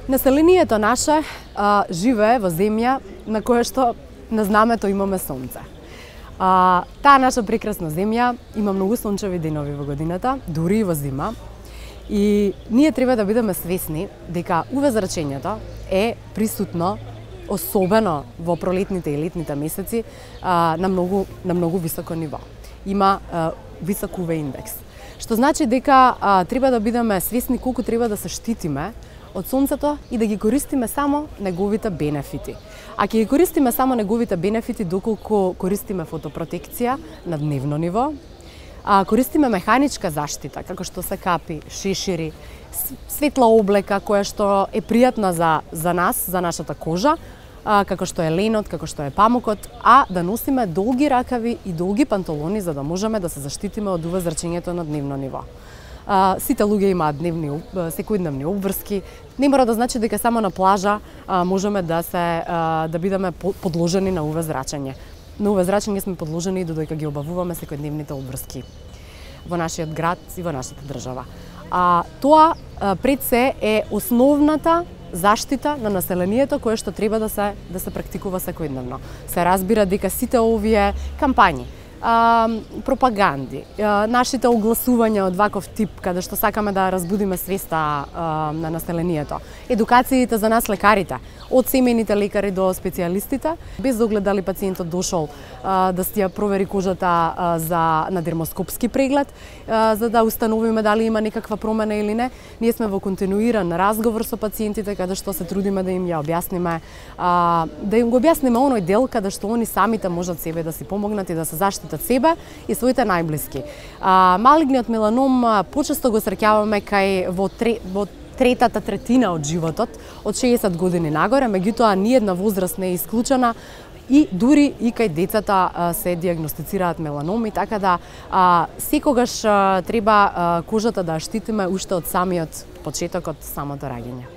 Населението наше живее во земја на која што на знамето имаме сонце. Таа наша прекрасна земја има многу сончеви денови во годината, дури и во зима. И ние треба да бидеме свесни дека UV-зрачењето е присутно, особено во пролетните и летните месеци, на многу високо ниво. Има висок UV индекс. Што значи дека треба да бидеме свесни колку треба да се штитиме од сонцето и да ги користиме само неговите бенефити. А ќе ги користиме само неговите бенефити доколку користиме фотопротекција на дневно ниво, користиме механичка заштита, како што се капи, шешири, светла облека која што е пријатна за нас, за нашата кожа, како што е ленот, како што е памукот, а да носиме долги ракави и долги панталони за да можеме да се заштитиме од UV-зрачењето на дневно ниво. Сите луѓе имаат секојдневни обврски. Не мора да значи дека само на плажа можеме да бидеме подложени на UV-зрачење. На UV-зрачење сме подложени и додека ги обавуваме секојдневните обврски во нашиот град и во нашата држава. Тоа пред се е основната заштита на населението која што треба да се практикува секојдневно. Се разбира дека сите овие кампањи, пропаганди, нашите огласувања од ваков тип, каде што сакаме да разбудиме свеста на населението, едукациите за нас лекарите, од семејните лекари до специјалистите, без оглед дали пациентот дошол да си ја провери кожата на дермоскопски преглед, за да установиме дали има некаква промена или не. Ние сме во континуиран разговор со пациентите, каде што се трудиме да им ја објасниме, да им го објасниме оној дел каде што они самите можат себе да си помогнат и да се заштитат себе и своите најблиски. Малигниот меланом почесто го среќаваме во третата третина од животот, од 60 години нагоре, меѓутоа ниедна возраст не е исклучена и дури и кај децата се диагностицираат меланоми, така да секогаш треба кожата да ја штитиме уште од самиот почеток, од самото раѓање.